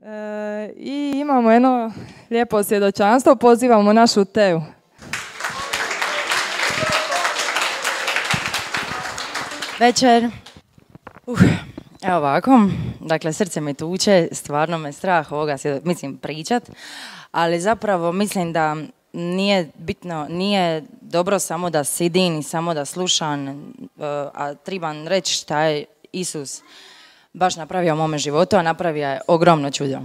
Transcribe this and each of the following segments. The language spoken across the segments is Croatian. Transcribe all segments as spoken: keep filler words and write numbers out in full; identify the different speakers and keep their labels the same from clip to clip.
Speaker 1: E, I imamo jedno lijepo svjedočanstvo, pozivamo našu Teu.
Speaker 2: Večer. Uh, evo ovako, dakle srce mi tuče, stvarno me strah ovoga, mislim, pričat, ali zapravo mislim da nije bitno, nije dobro samo da sidim i samo da slušam, a trebam reći šta je Isus baš napravio u mome životu, a napravio je ogromno čudo.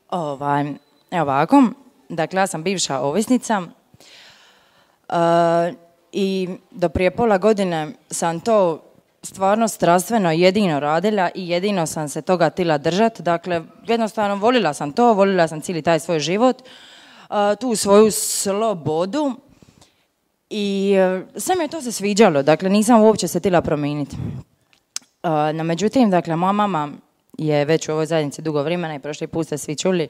Speaker 2: Ovaj, evo ovako, dakle ja sam bivša ovisnica uh, i do prije pola godine sam to stvarno strastveno jedino radila i jedino sam se toga tila držati. Dakle, jednostavno volila sam to, volila sam cijeli taj svoj život, uh, tu svoju slobodu i uh, sve mi je to se sviđalo, dakle nisam uopće se tila promijeniti. Uh, no međutim, dakle, moja mama je već u ovoj zajednici dugo vremena i prošli put ste svi čuli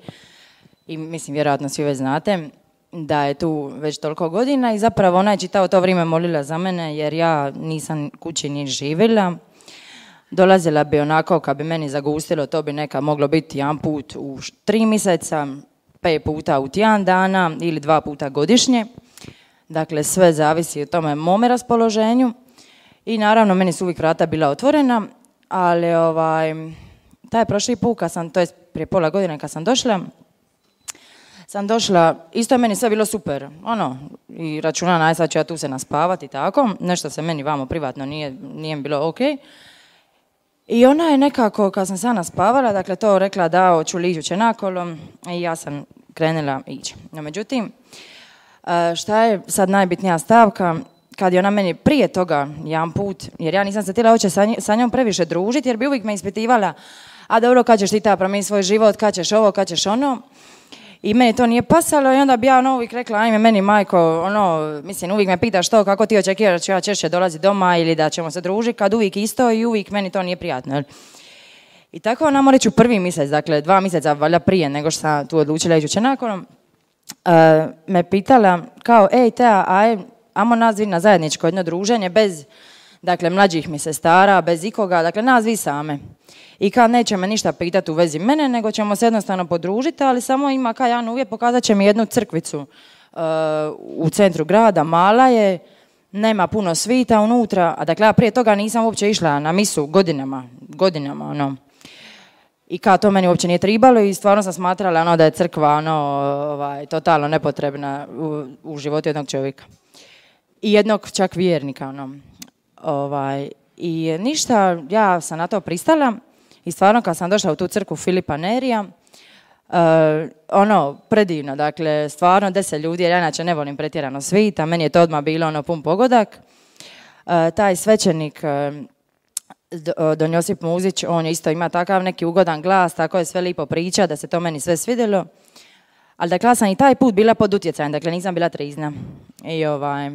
Speaker 2: i mislim vjerojatno svi već znate da je tu već toliko godina i zapravo ona je čitao to vrijeme molila za mene jer ja nisam kući ni živjela. Dolazila bi onako kad bi meni zagustilo, to bi neka moglo biti jedan put u tri mjeseca, pet puta u tjedan dana ili dva puta godišnje. Dakle, sve zavisi o tome mome raspoloženju. I naravno, meni su uvijek vrata bila otvorena, ali ovaj, taj prošli put, kad sam, to je prije pola godine kad sam došla, sam došla, isto je meni sve bilo super, ono, i računa naj, sad ću ja tu se naspavati i tako, nešto se meni vamo privatno nije, nije bilo ok. I ona je nekako, kad sam se naspavala, dakle to rekla da hoću li ići nakolo i ja sam krenula ići. No međutim, šta je sad najbitnija stavka, kad je ona meni prije toga jedan put, jer ja nisam se htjela hoće sa, sa njom previše družiti, jer bi uvijek me ispitivala, a dobro, kad ćeš ti ta promijeniti svoj život, kad ćeš ovo, kad ćeš ono. I meni to nije pasalo i onda bi ja ono uvijek rekla, ajme meni majko, ono, mislim, uvijek me pitaš to, kako ti očekiraš da ću ja češće dolaziti doma ili da ćemo se družiti, kad uvijek isto i uvijek meni to nije prijatno. I tako ona mora reći u prvi mjesec, dakle dva mjeseca valjda prije nego što sam tu odlučila ići nakonom, uh, me pitala kao, ej Tea, aj, ajmo nas dvi na zajedničko jedno druženje bez, dakle, mlađih mi sestara, bez ikoga, dakle, nas dvi same. I kad neće me ništa pitati u vezi mene, nego ćemo se jednostavno podružiti, ali samo ima kao jedan uvjet, pokazat će mi jednu crkvicu uh, u centru grada, mala je, nema puno svita unutra, a dakle, ja prije toga nisam uopće išla na misu godinama, godinama, ono. I kao to meni uopće nije tribalo i stvarno sam smatrala ono da je crkva ono, ovaj, totalno nepotrebna u, u životu jednog čovjeka. I jednog čak vjernika, ono. Ovaj, i ništa, ja sam na to pristala i stvarno kad sam došla u tu crkvu Filipa Nerija, uh, ono, predivno, dakle, stvarno deset ljudi, jer ja inače ne volim pretjerano svita, meni je to odmah bilo ono pun pogodak. Uh, taj svećenik, uh, Don Josip Muzić, on isto ima takav neki ugodan glas, tako je sve lipo priča, da se to meni sve svidjelo. Ali dakle, ja sam i taj put bila pod utjecajem, dakle, nisam bila trizna. I ovaj...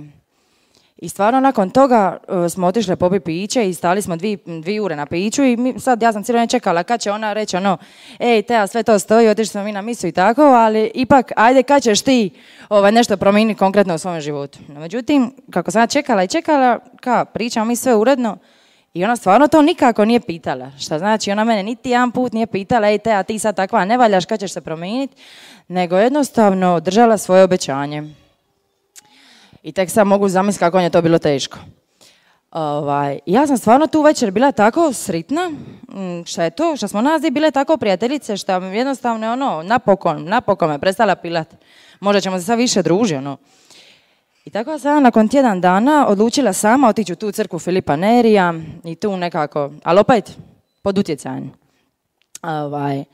Speaker 2: I stvarno nakon toga uh, smo otišli popiti piće i stali smo dvi, dvi ure na piću i mi, sad ja sam cijelo vrijeme čekala kad će ona reći ono, ej Tea, sve to stoji, otišli smo mi na misu i tako, ali ipak ajde kad ćeš ti ovaj, nešto promijeniti konkretno u svom životu. No, međutim, kako sam ja čekala i čekala, ka, pričamo mi sve uredno i ona stvarno to nikako nije pitala. Šta znači, ona mene niti jedan put nije pitala, ej Tea, ti sad takva ne valjaš, kad ćeš se promijeniti, nego jednostavno držala svoje obećanje. I tek sad mogu zamisliti kako je to bilo teško. Ovaj, ja sam stvarno tu večer bila tako sritna, šta je to, što smo nas bile tako prijateljice, što jednostavno ono, napokon, napokon me prestala pilat. Možda ćemo se sad više družiti, ono. I tako sam nakon tjedan dana odlučila sama otići u tu crkvu Filipa Nerija i tu nekako, ali opet pod utjecajem. Ovaj,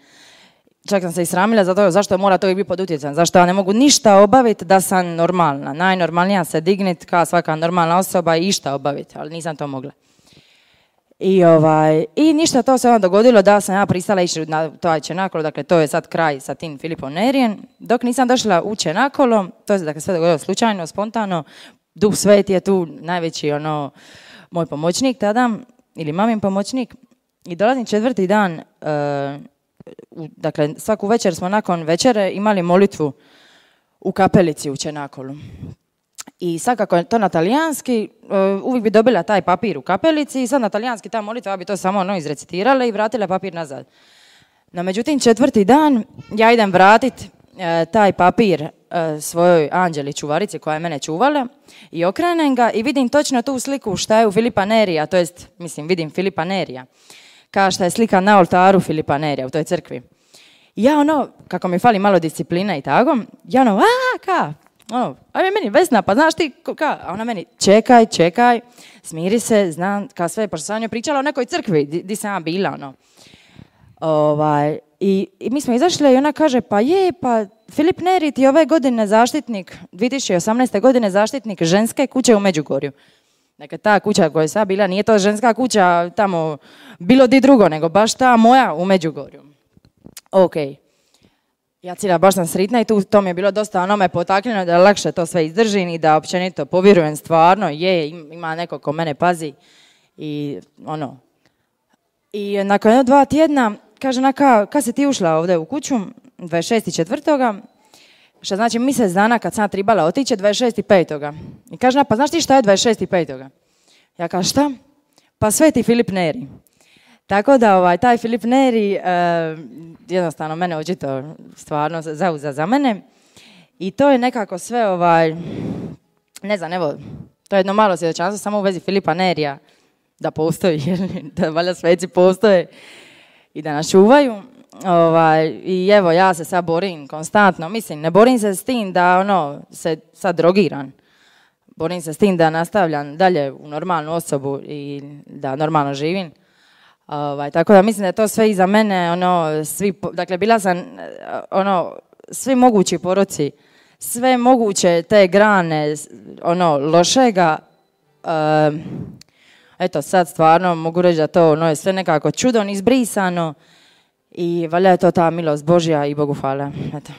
Speaker 2: čak sam se i sramila zato zašto mora to i biti pod utjecajem, zašto ja ne mogu ništa obaviti da sam normalna. Najnormalnija se dignit kao svaka normalna osoba i išta obaviti, ali nisam to mogla. I, ovaj, i ništa, to se onda dogodilo da sam ja pristala ići na to Čenakolo, dakle to je sad kraj sa tim Filipom Nerijem. Dok nisam došla u Čenakolo, to se dakle sve dogodilo slučajno, spontano, Duh Sveti je tu najveći ono, moj pomoćnik tada, ili mamin pomoćnik. I dolazim četvrti dan, uh, u, dakle svaku večer smo nakon večere imali molitvu u kapelici u Čenakolu. I sad kako je to na talijanski, uh, uvijek bi dobila taj papir u kapelici i sad na talijanski ta molitva, ja bi to samo ono izrecitirala i vratila papir nazad. No, međutim, četvrti dan ja idem vratit e, taj papir e, svojoj Anđeli čuvarici koja je mene čuvala i okrenem ga i vidim točno tu sliku šta je u Filipa Nerija, to jest, mislim, vidim Filipa Nerija, kao šta je slika na oltaru Filipa Nerija u toj crkvi. I ja ono, kako mi fali malo disciplina i tako, ja ono, a ka, ono, ajme meni Vesna, pa znaš ti, ka, a ona meni, čekaj, čekaj, smiri se, znam, kao sve, pošto sam njoj pričala o nekoj crkvi, di, di sam ja bila, ono. Ovaj, i, i mi smo izašli i ona kaže, pa je, pa Filip Neri ti ove godine zaštitnik, dvije tisuće osamnaeste. godine zaštitnik ženske kuće u Međugorju. Dakle, ta kuća koja je sad bila, nije to ženska kuća tamo bilo di drugo, nego baš ta moja u Međugorju. Ok. Ja cijela baš sam sritna i tu to mi je bilo dosta ono me potakljeno da lakše to sve izdržim i da općenito povjerujem stvarno, je, ima neko ko mene pazi i ono. I nakon jedno dva tjedna, kaže naka, kad si ti ušla ovdje u kuću, dvadeset šestog četvrtoga što znači mjesec dana kad sam tribala otići, dvadeset šestog petog I kaže, pa znaš ti šta je dvadeset šestog petog Ja kažem, šta? Pa Sveti Filip Neri. Tako da ovaj, taj Filip Neri eh, jednostavno mene očito stvarno zauza za mene. I to je nekako sve, ovaj, ne znam, evo, to je jedno malo svjedočanstvo samo u vezi Filipa Nerija, da postoji, da valjda sveci postoje i da nas čuvaju. Ovaj, I evo, ja se sad borim konstantno, mislim, ne borim se s tim da ono, se sad drogiram. Borim se s tim da nastavljam dalje u normalnu osobu i da normalno živim. Ovaj, tako da mislim da je to sve iza mene, ono, svi, dakle, bila sam, ono, svi mogući poroci, sve moguće te grane, ono, lošega, um, eto, sad stvarno mogu reći da to, ono, je sve nekako čudom izbrisano i valjda je to ta milost Božja i Bogu hvala, eto.